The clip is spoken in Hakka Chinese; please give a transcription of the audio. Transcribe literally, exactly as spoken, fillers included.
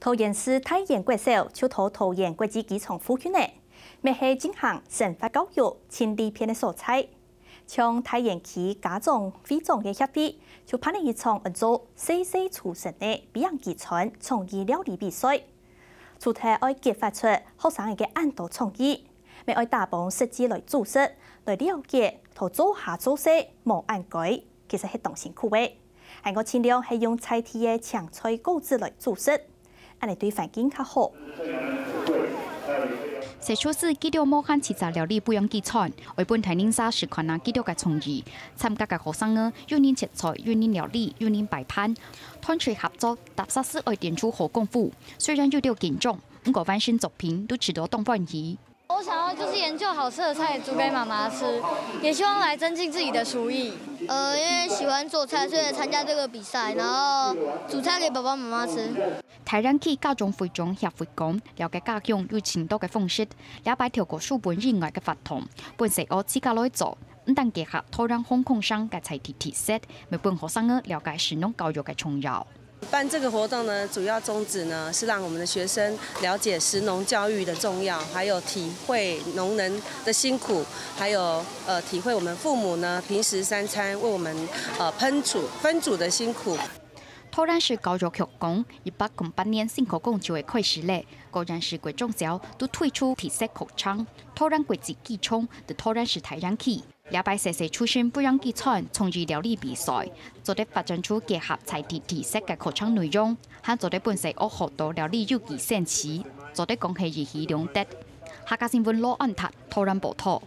桃園市大園國小就在桃園國際機場附近呢，乜係進行生活教育盡利便个所在。像大園區家長會長个協會，就辦了一場安做細細廚神个飛行機餐創意料理比賽。除忒愛激發出學生个恁多創意，乜愛打幫實際來煮食，來了解在灶下做事無恁該，其實係當辛苦个。 還過盡量係用在地个青菜果子來煮食，恁呢對環境較好。細廚師佢兜無限自家料理不樣个餐，愛分大人儕試看啊佢兜个創意。參加个學生仔有人切菜，有人料理，有人擺盤，團隊合作，踏實實愛展出好功夫。雖然有兜緊張，毋過完成作品都試著當歡喜。 我想要就是研究好吃的菜煮给妈妈吃，也希望来增进自己的厨艺。呃，因为喜欢做菜，所以来参加这个比赛，然后煮菜给爸爸妈妈吃。大園區家長會長協會講，了解家鄉有盡多个方式，這擺透過書本以外个活動，分細學自家來做，毋單結合桃園、紅光山个在地特色，乜分學生仔了解食農教育个重要。 辦這個活動呢，主要宗旨呢是讓我們的學生了解食農教育的重要，還有體會農人的辛苦，還有呃體會我們父母呢平時三餐為我們呃烹煮分煮的辛苦。桃園市教育局講，一百空八年新課綱就會開始咧，各縣市國中小都推出特色課程，桃園國際機場在桃園市大園區。 這擺細細廚神不樣个餐創意料理比賽，做得發展出結合在地特色个課程內容，還做得分細學學到料理有機生趣，做得講係一舉兩得。客家新聞羅安達，桃園報導。